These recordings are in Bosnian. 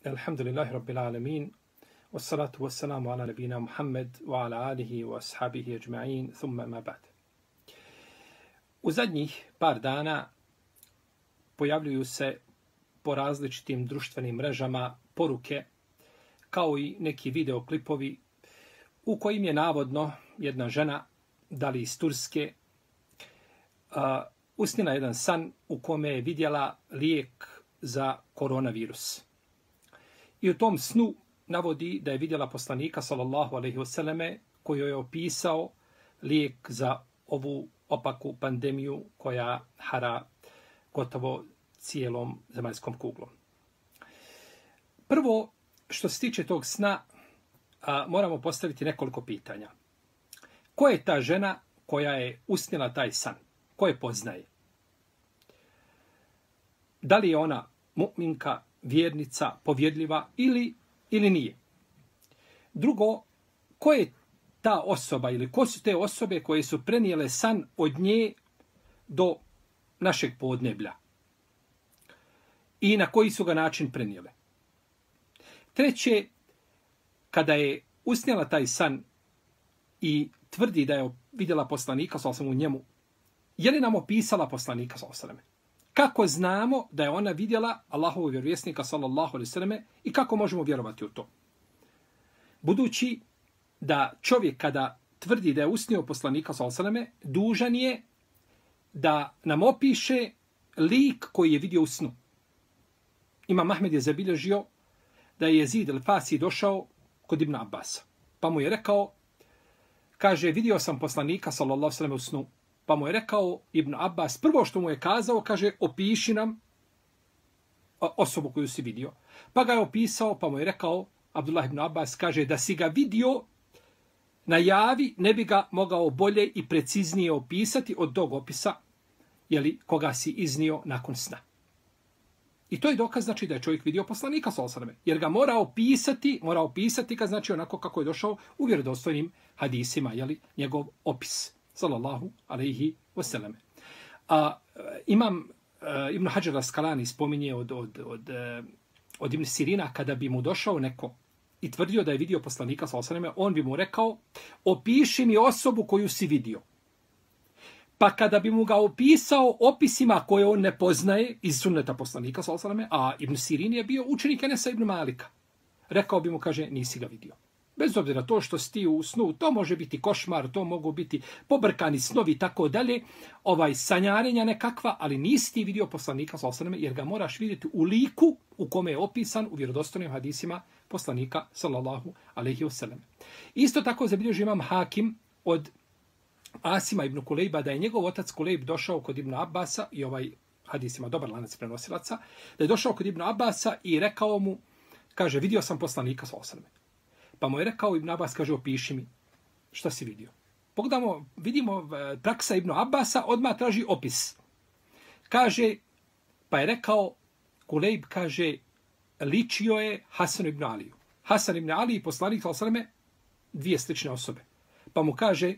Alhamdulillahi Rabbil Alamin. Wassalatu wassalamu ala nabina Muhammed wa ala alihi wa ashabihi ajma'in. Thumma ma ba'd. U zadnjih par dana pojavljuju se po različitim društvenim mrežama poruke kao i neki videoklipovi u kojim je navodno jedna žena, da li iz Turske, usnila jedan san u kome je vidjela lijek za koronavirus. I u tom snu navodi da je vidjela poslanika sallallahu alejhi ve selleme koji je opisao lijek za ovu opaku pandemiju koja hara gotovo cijelom zemaljskom kuglom. Prvo, što se tiče tog sna, moramo postaviti nekoliko pitanja. Ko je ta žena koja je usnila taj san? Ko je poznaje? Da li je ona mu'minka, vjernica, povjedljiva ili nije? Drugo, ko je ta osoba ili ko su te osobe koje su prenijele san od nje do našeg podneblja? I na koji su ga način prenijele? Treće, kada je usnijela taj san i tvrdi da je vidjela poslanika sallallahu u njemu, je li nam opisala poslanika sallallahu? Kako znamo da je ona vidjela Allahovog vjerovjesnika sallallahu alejhi ve selleme i kako možemo vjerovati u to? Budući da čovjek kada tvrdi da je usnio poslanika sallallahu alejhi ve selleme, dužan je da nam opiše lik koji je vidio u snu. Imam Ahmed je zabilježio da je Jezid el-Fasi došao kod Ibn Abbasa. Pa mu je rekao, kaže, vidio sam poslanika sallallahu alejhi ve selleme u snu. Pa mu je rekao Ibn Abbas, prvo što mu je kazao, kaže, opiši nam osobu koju si vidio. Pa ga je opisao, pa mu je rekao, Abdullah ibn Abbas, kaže, da si ga vidio na javi, ne bi ga mogao bolje i preciznije opisati od tog opisa, jeli, koga si iznio nakon sna. I to je dokaz, znači, da je čovjek vidio poslanika, jer ga mora opisati ga, znači, onako kako je došao u vjerodostojnim hadisima, jeli, njegov opis. Sallallahu alejhi ve selleme. Imam Ibn Hajar al-Asqalani spominje od Ibn Sirina, kada bi mu došao neko i tvrdio da je vidio poslanika sallallahu alejhi ve selleme, on bi mu rekao, opiši mi osobu koju si vidio. Pa kada bi mu ga opisao opisima koje on ne poznaje iz sunneta poslanika sallallahu alejhi ve selleme, a Ibn Sirin je bio učenik Enesa ibn Malika, rekao bi mu, kaže, nisi ga vidio. Bez obzira to što si u snu, to može biti košmar, to mogu biti pobrkani snovi i tako dalje, sanjarenja nekakva, ali nisi ti vidio poslanika sallallahu alejhi ve selleme, jer ga moraš vidjeti u liku u kome je opisan u vjerodostojnim hadisima poslanika sallallahu alejhi ve selleme. Isto tako zabilježio Imam Hakim od Asima ibn Kulejba da je njegov otac Kulejb došao kod Ibn Abbasa, i hadis ima dobar lanac prenosilaca, da je došao kod Ibn Abbasa i rekao mu, kaže, vidio sam poslanika sallallahu alejhi ve selleme. Pa mu je rekao Ibn Abbas, kaže, opiši mi šta si vidio. Pogledamo, vidimo praksa Ibn Abbasa, odmah traži opis. Kaže, pa je rekao, Kulejb, kaže, ličio je Hasan ibn Aliju. Hasan ibn Ali i poslanik sallallahu alejhi ve selleme, dvije slične osobe. Pa mu kaže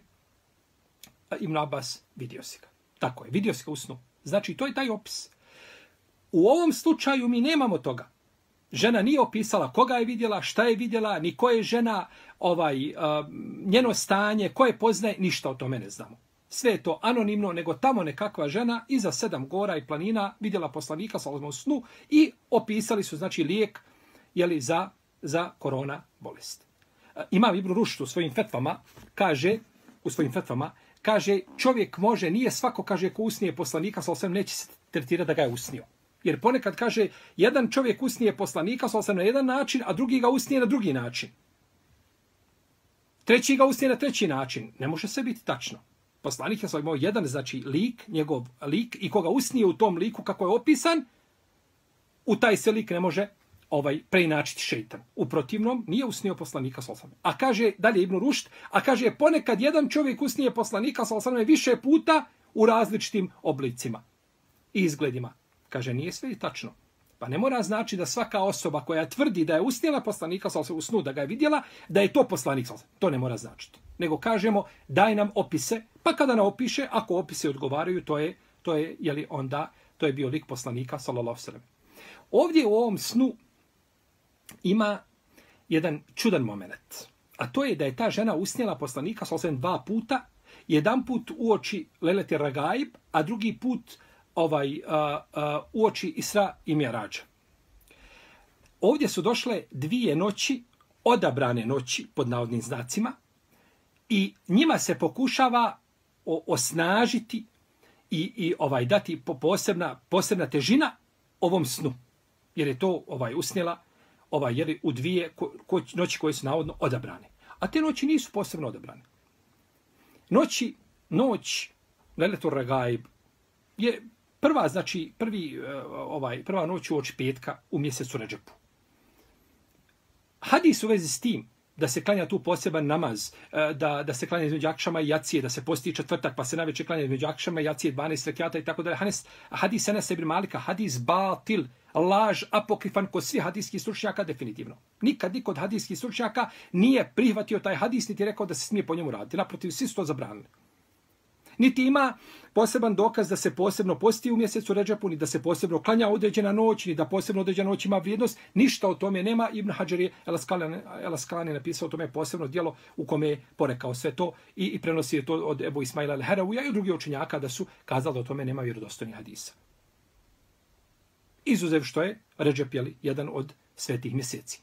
Ibn Abbas, vidio si ga. Tako je, vidio si ga u snu. Znači, to je taj opis. U ovom slučaju mi nemamo toga. Žena nije opisala koga je vidjela, šta je vidjela, ni ko je žena, njeno stanje, ko je poznaje, ništa o tome ne znamo. Sve je to anonimno, nego tamo nekakva žena iza 7 gora i planina vidjela poslanika sallallahu alejhi ve selleme u snu i opisali su, znači, lijek, jeli, za korona bolest. Imam Ibn Rušd u svojim fetvama kaže, čovjek može, nije svako, kaže, ko usnije poslanika sallallahu alejhi ve selleme, neće se tretirati da ga je usnio. Jer ponekad, kaže, jedan čovjek usnije poslanika sallallahu alejhi ve selleme na jedan način, a drugi ga usnije na drugi način. Treći ga usnije na treći način. Ne može sve biti tačno. Poslanik je imao jedan, znači, lik, njegov lik, i koga usnije u tom liku kako je opisan, u taj se lik ne može preinačiti šejtan. U protivnom, nije usnio poslanika sallallahu alejhi ve selleme. A kaže, dalje Ibn Rušd, a kaže, ponekad jedan čovjek usnije poslanika sallallahu alejhi ve selleme više puta u različitim oblicima i izgledima. Kaže, nije sve i tačno. Pa ne mora znači da svaka osoba koja tvrdi da je usnijela poslanika sallallahu alejhi ve selleme u snu, da ga je vidjela, da je to poslanik sallallahu alejhi ve selleme. To ne mora značiti. Nego kažemo, daj nam opise, pa kada nam opiše, ako opise odgovaraju, to je jeli, onda, to je bio lik poslanika sallallahu alejhi ve selleme. Ovdje u ovom snu ima jedan čudan moment. A to je da je ta žena usnijela poslanika sallallahu 2 puta, jedan put uoči Lejleti Ragaib, a drugi put uoči Isra i Mi'rađa. Ovdje su došle 2 noći, odabrane noći, pod navodnim znacima, i njima se pokušava osnažiti i dati posebna težina ovom snu. Jer je to usnijela u 2 noći koje su navodno odabrane. A te noći nisu posebno odabrane. Noć Lejletul Ragaib je prva noć uoči petka u mjesecu Redžepu. Hadis u vezi s tim da se klanja tu poseban namaz, da se klanja između akšama i jacije, da se posti četvrtak, pa se navečer klanja između akšama i jacije 12 rekjata i tako dalje. Hadis Enesa ibn Malika, hadis batil, laž, apokrifan kod svih hadijskih stručnjaka definitivno. Nikad niko od hadijskih stručnjaka nije prihvatio taj hadis, niti rekao da se smije po njemu raditi. Naprotiv, svi su to zabranili. Niti ima poseban dokaz da se posebno posti u mjesecu Redžepu, ni da se posebno klanja određena noć, ni da posebno određena noć ima vrijednost. Ništa o tome nema. Ibn Hadžar je El-Askalani napisao o tome posebno djelo u kome je porekao sve to i prenosi je to od Ebu Ismaila al-Haravuja i od drugih učenjaka da su kazali da o tome nema vjerodostojnih hadisa. Izuzev što je Redžep jedan od svetih mjeseci.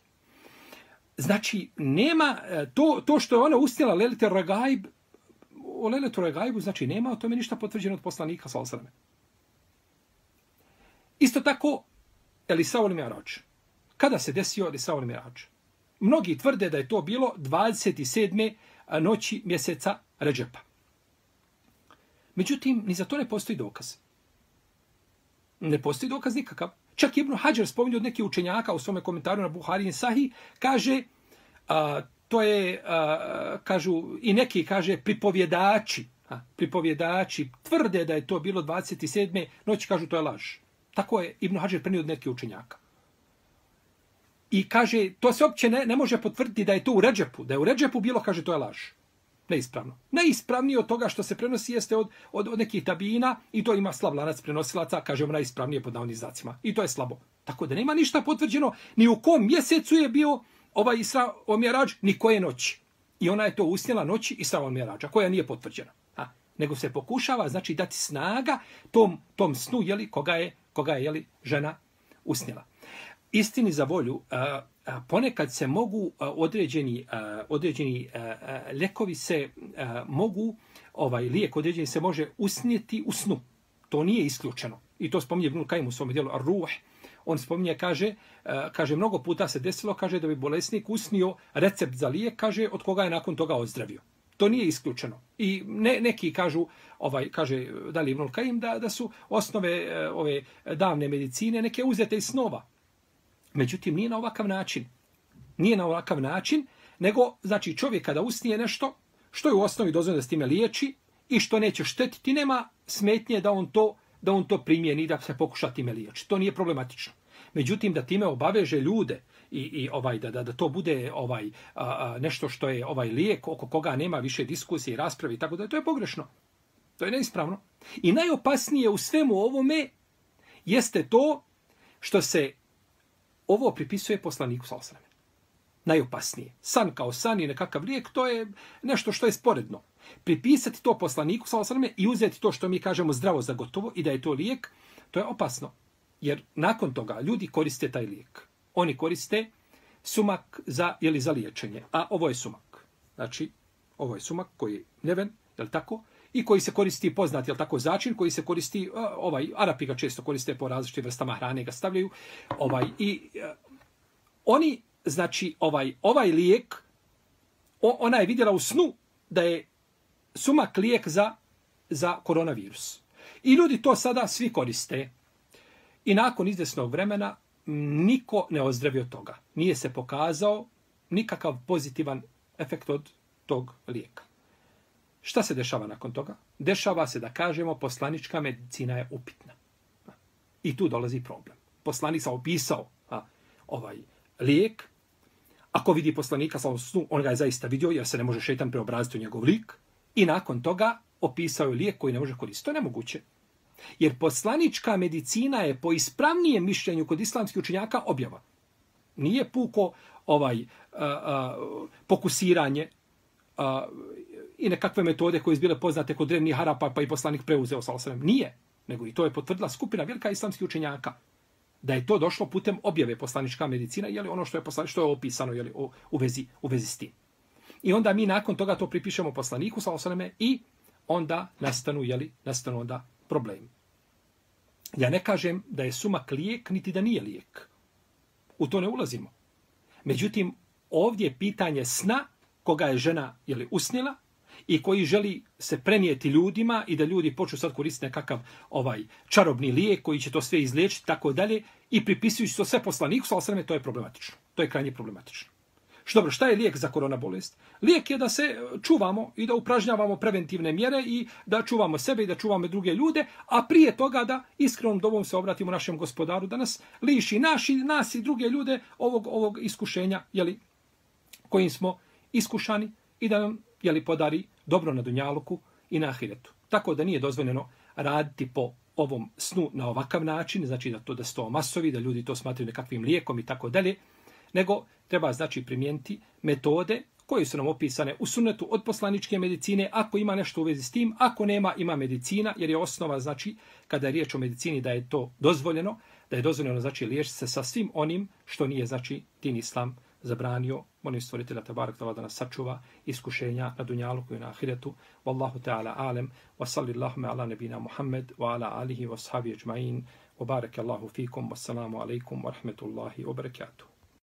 Znači, nema to što je ona usnijela Lejletul Ragaib, o Lejletul Ragaibu, znači nema o tome ništa potvrđeno od poslanika sallallahu alejhi ve sellem. Isto tako Isra i Mi'rađ. Kada se desio Isra i Mi'rađ? Mnogi tvrde da je to bilo 27. noći mjeseca Redžepa. Međutim, ni za to ne postoji dokaz. Ne postoji dokaz nikakav. Čak Ibn Hadžar spominje od nekih učenjaka u svome komentaru na Buhari i Sahih, kaže to je, kažu, i neki kaže pripovjedači tvrde da je to bilo 27. noći, kažu to je laž. Tako je Ibn Hadžar prenio od nekih učenjaka. I kaže, to se uopće ne može potvrditi da je to u Redžepu. Da je u Redžepu bilo, kaže, to je laž. Neispravno. Najispravnije od toga što se prenosi jeste od nekih tabijina i to ima slab lanac prenosilaca, kažemo najispravnije pod navodnim znacima. I to je slabo. Tako da nema ništa potvrđeno ni u kom mjesecu je bio Isra i Mi'rađ, ni koje noći. I ona je to usnijela noći Isra i Mi'rađa, koja nije potvrđena. Nego se pokušava, znači, dati snaga tom snu, koga je žena usnijela. Istini za volju, ponekad se mogu određeni lijekovi se mogu, lijek određeni se može usnijeti u snu. To nije isključeno. I to spominje Ibnul Kajim u svom dijelu Ar-Ruh. On spominje, kaže, mnogo puta se desilo, kaže, da bi bolesnik usnio recept za lijek, kaže, od koga je nakon toga ozdravio. To nije isključeno. I neki kažu, kaže, da li Ibnul Kajim, da su osnove ove davne medicine neke uzete iz snova. Međutim, nije na ovakav način. Nije na ovakav način, nego, znači, čovjek kada usnije nešto, što je u osnovi dozvoljeno da s time liječi i što neće štetiti, nema smetnje da on to primjeni i da se pokuša time liječiti. To nije problematično. Međutim, da time obaveže ljude i da to bude nešto što je lijek oko koga nema više diskusije i rasprave i tako da, to je pogrešno. To je neispravno. I najopasnije u svemu ovome jeste to što se ovo pripisuje poslaniku sallallahu alejhi ve sellem. Najopasnije. San kao san i nekakav lijek, to je nešto što je sporedno. Pripisati to poslaniku sallallahu alejhi ve sellem i uzeti to što mi kažemo zdravo za gotovo i da je to lijek, to je opasno. Jer nakon toga ljudi koriste taj lijek. Oni koriste sumak za liječenje. A ovo je sumak. Znači, ovo je sumak koji je neven, je li tako? I koji se koristi poznat, je li tako, začin, koji se koristi, Arapi ga često koriste po različitim vrstama hrane, ga stavljaju. Oni, znači, ovaj lijek, ona je vidjela u snu da je sumak lijek za koronavirus. I ljudi to sada svi koriste. I nakon izvjesnog vremena niko ne ozdravio od toga. Nije se pokazao nikakav pozitivan efekt od tog lijeka. Šta se dešava nakon toga? Dešava se da kažemo poslanička medicina je upitna. I tu dolazi problem. Poslanik sam opisao ovaj lijek. Ako vidi poslanika sa snu, on ga je zaista vidio jer se ne može šejtan preobraziti u njegov lik. I nakon toga opisao je lijek koji ne može koristiti. To je nemoguće. Jer poslanička medicina je po ispravnijem mišljenju kod islamskih učenjaka objava. Nije puko pokusiranje i nekakve metode koje su bile poznate kod drevnih Arapa, pa i poslanik preuzeo sallallahu. Nije, nego i to je potvrdila skupina velika islamskih učenjaka. Da je to došlo putem objave poslanička medicina, je li ono što je opisano, je li u vezi s tim. I onda mi nakon toga to pripišemo poslaniku sallallahu i onda nastanu onda problemi. Ja ne kažem da je sumak lijek, niti da nije lijek. U to ne ulazimo. Međutim, ovdje je pitanje sna koga je žena usnila i koji želi se prenijeti ljudima i da ljudi počnu sad koristiti nekakav čarobni lijek koji će to sve izliječiti, tako dalje, i pripisujući to sve poslaniku, sallallahu, to je problematično. To je krajnje problematično. Što dobro, šta je lijek za korona bolest? Lijek je da se čuvamo i da upražnjavamo preventivne mjere i da čuvamo sebe i da čuvamo druge ljude, a prije toga da iskrenom dobom se obratimo našem Gospodaru, da nas liši nas i druge ljude ovog iskušenja, kojim smo iskušani, i da nam podari dobro na dunjaluku i na ahiretu. Tako da nije dozvoljeno raditi po ovom snu na ovakav način, znači da se to masovi, da ljudi to smatraju nekakvim lijekom i tako dalje, nego treba primijeniti metode koje su nam opisane u sunnetu od poslaničke medicine, ako ima nešto u vezi s tim, ako nema, ima medicina, jer je osnova, kada je riječ o medicini, da je to dozvoljeno, liječiti se sa svim onim što nije, din islam zabranio. Molim stvoritelja Tebarek da nas sačuva iskušenja na dunjaluku i na ahiretu. Wallahu ta'ala alem, wa sallillahuma ala nebina Muhammed, wa ala alihi wa sahabi ajma'in, wa baraka Allahu fikum, wassalamu alaikum wa rahmetullahi wa barakatuh.